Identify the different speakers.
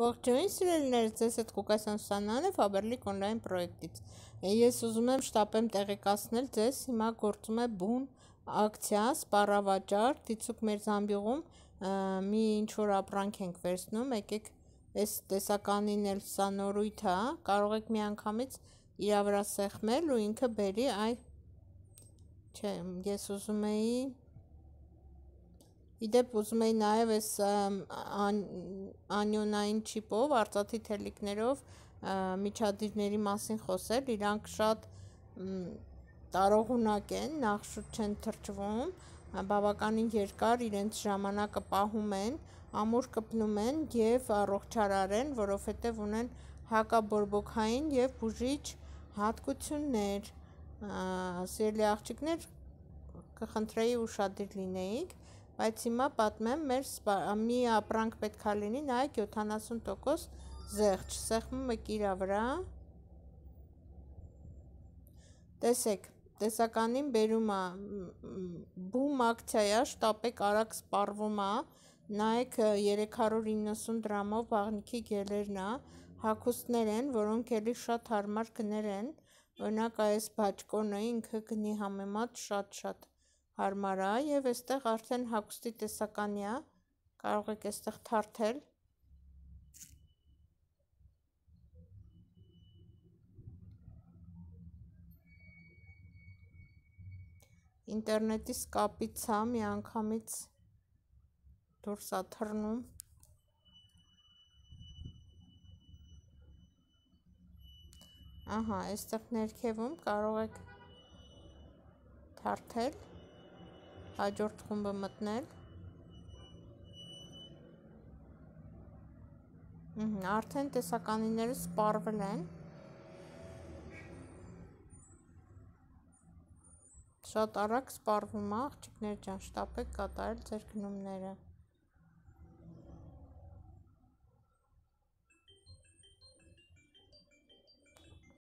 Speaker 1: Ողջույն սիրելիներս, ձեզ հետ Ղուկասյան Սուսաննան է Faberlic Online պրոյեկտից։ Ես ուզում եմ շտապեմ տեղեկացնել ձեզ, հիմա գործում է բուն ակցիա, սպառավաճառ, դիցուք մեր զամբյուղում մի ինչ-որ ապրանք ենք վերցնում, եկեք այս տեսականին էլ սա նորույթ է, կարող եք միանգամից իրա վրա սեղմել ու ինքը բերի, չէ, ես ուզում էի Իդեպ ուզում էի նաև այս անյոնային չիպով, արծաթի թելիկներով միջադիրների մասին խոսել, իրանք շատ տարողունակ են, նախշուտ չեն թրջվում, բավականին երկար իրենց ժամանակը պահում են, ամուր կպնում են և առողջարար են, որովհետև ունեն հակաբորբոքային և բուժիչ հատկություններ, սիրելի աղջիկներ, կխնդրեի ուշադիր լինեիք, բայց հիմա պատմեմ, մի ապրանք պետք է լինի, նայեք 70% զեղչ, սեղմում եք իրա վրա, տեսեք, տեսականին բերում է, բում ակցիա, շտապեք արագ սպառվում է, նայեք 390 դրամով բաղնիքի գելերն է, հագուստներ են, որոնք էլի շատ հարմար գներ են, օրինակ այս բաճկոնը ինքը գնի համեմատ շատ հարմար է և այստեղ արդեն հագուստի տեսականի է, կարող եք այստեղ թարթել, ինտերնետից կապից է, միանգամից դուրս է թռնում, ահա, այստեղ ներքևում կարող եք թարթել, հաջորդ խումբը մտնել, արդեն տեսականիները սպառվել են, շատ արագ սպառվում է, աղջիկներ ջան, շտապեք կատարել ձեր գնումները։